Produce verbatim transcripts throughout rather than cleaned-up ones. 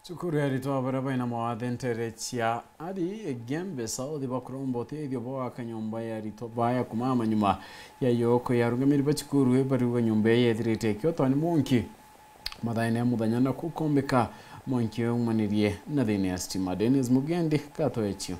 Cukuru ya aritwa baria baina mawathe ntere cia ari Igembe South bakuromba uteethio bwa gwaka nyomba ya aritwa baya kumama nyuma ya yoko ya arungamiri ba cukuru bariuga nyomba iyo yethirite ikiotwa ni mwanki mathaene ya muthenya na kukombeka mwanki uyu umanirie na thiini ya stima. Dennis Mugendi, Gato Echio.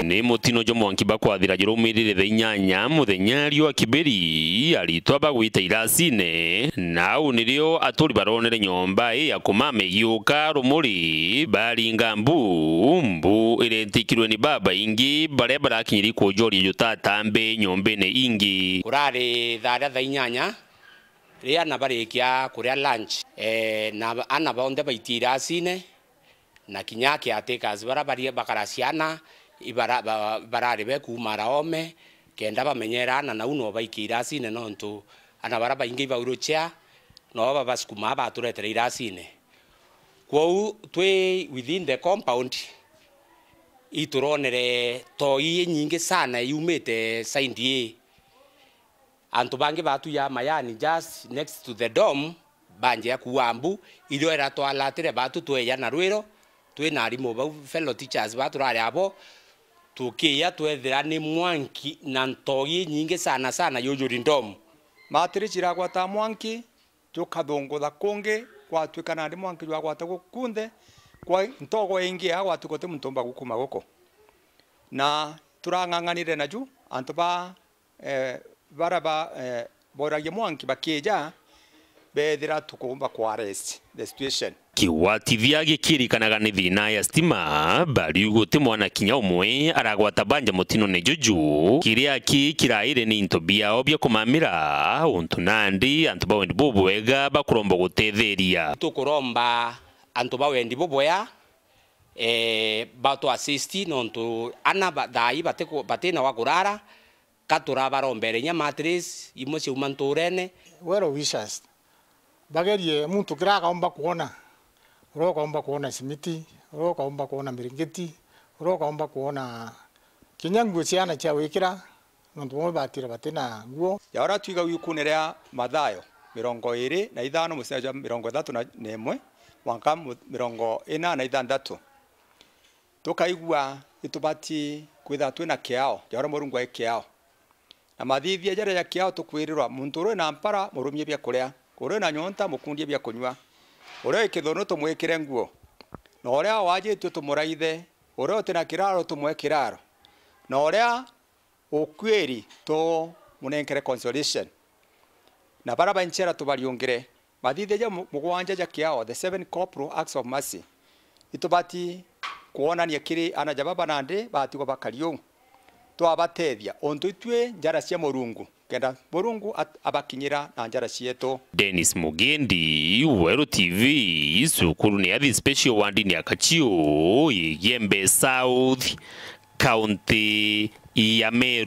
Ni mutino jwa mwanki bakwathira jurumirire thaa inyanya muthenya riua kiberi, aritwa bagwita irasine, na au nirio aturi baronere nyomba ii ya kumama igiuka rumuri, baringa mbu, mbu iretikirwe ni babaingi baria barakinyiri kujoria jutatambi nyombene ingi. Kurari thaa ria thaa inyanya, riria ana barikia kuria lunch, eh, na ana bonthe baitia irasine, na kinya caretakers bara bari bakara ciana, ibara-, ba-, barari be kuuma ara oome, kenda bamenyera ana nau no baikie irasine, nontu ana bara baingi iba wheelchair, no babasukumaa baturetere irasine. Kwou twi within the compound, ituronere toi inyingi sana yumite side ii. Antu bangi batu ya Mayani, just next to the dome, banjia kuua mbu, irio iratwalatire batu tweja na rwiro, twina arimu bau, fellow teachers ba turari abo, tukiya twethira ni mwanki na ntogi inyingi sana sana yujuri dome. Matiri ciragwata mwanki, jukathungutha kungi, gwatuika nandi mwanki jwagwata guku kunthe, kwa ntogo ingi ya gwatuika uti muntu umba gukuma guku. Na turang'ang'anire naju, antu ba eh, bara ba, eh, boragia mwanki bakija, bethira tukumba ku arrest the situation. Kigwatithia gikirikanaga ni thina ya stima, bariuga uti mwana kinya umwe aragwata banja mutinone juju, kiria ki kiraire ni into biao bia kumamira, untu nandi antu ba wendi bubwega bakuromba gutetheria. Tukuromba antu ba wendi bubwea, eh, batu assist, nontu ana ba-, thaa ii batiku-, batina wa kurara, ka turabarombere inya mattress imwe ciauma nturene. Well wishers, bagerie muntu kiria akaumba kwona, uria ukaumba kwona simiti, uria ukaumba kwona miringiti, uria ukaumba kwona kinya nguo ciana cia gwikira, nontu bamwe batire batina nguo. Ja uria twiga wikune ria Mathayo mirongo iiri na ithano musea jwa mirongo ithatu na imwe mwanka mu-, mirongo ina na ithanthatu. Tukaigua itubati kwithirwa twina kiao, ja uria Murungu ai kiao. Na mathithia jaria ja kiao tukwirirwa, muntu uria wina mpara, murumie bia kuria, uria wina nyonta, mukundie bia kunyua, uria wi kithunu, tumwikire nguo, na uria waajitue, tumuraithe, uria uti na kiraro, tumwe kiraro, na uria ukuiri, tumunenkere consolation. Na bara ba nchera tubariungire. Mathithia ja mu-, mugwanja ja kiao, the seven corporal acts of mercy, itubati kwonania kiri ana ja baba nandi batigwa bakari uu. Twabatethia, untu itwi njara cia Murungu, kenda Murungu at-, abakinyira na njara cietu. Dennis Mugendi, Weru T V, cukuru ni ya The Special Ward ni ya Kachiu, Igembe South, kaunti ya Meru.